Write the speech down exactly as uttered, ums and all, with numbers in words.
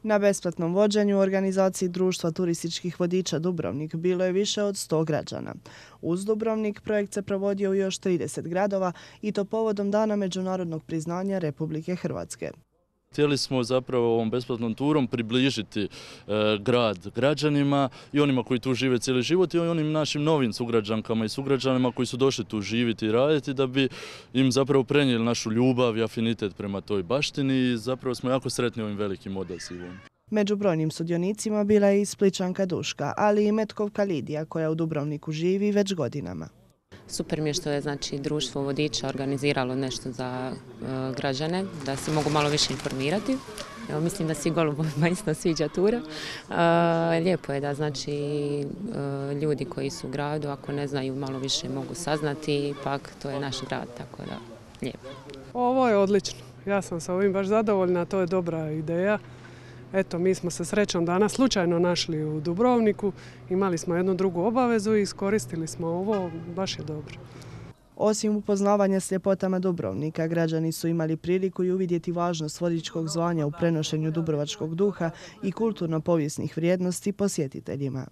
Na besplatnom vođenju u organizaciji Društva turističkih vodiča Dubrovnik bilo je više od sto građana. Uz Dubrovnik projekt se provodio u još trideset gradova i to povodom Dana međunarodnog priznanja Republike Hrvatske. Htjeli smo zapravo ovom besplatnom turom približiti e, grad građanima i onima koji tu žive cijeli život i onim našim novim sugrađankama i sugrađanima koji su došli tu živjeti i raditi da bi im zapravo prenijeli našu ljubav i afinitet prema toj baštini i zapravo smo jako sretni ovim velikim odazivom. Među brojnim sudionicima bila je i Splićanka Duška, ali i Metkovka Lidija koja u Dubrovniku živi već godinama. Super mi je što je znači, društvo vodiča organiziralo nešto za uh, građane, da se mogu malo više informirati. Evo, mislim da svi golubovima isto sviđa tura. Uh, lijepo je da znači, uh, ljudi koji su u gradu, ako ne znaju, malo više mogu saznati, ipak to je naš grad, tako da lijepo. Ovo je odlično. Ja sam sa ovim baš zadovoljna, to je dobra ideja. Eto, mi smo se srećom danas slučajno našli u Dubrovniku, imali smo jednu drugu obavezu i iskoristili smo ovo, baš je dobro. Osim upoznavanja s ljepotama Dubrovnika, građani su imali priliku i uvidjeti važnost vodičkog zvanja u prenošenju dubrovačkog duha i kulturno-povijesnih vrijednosti posjetiteljima.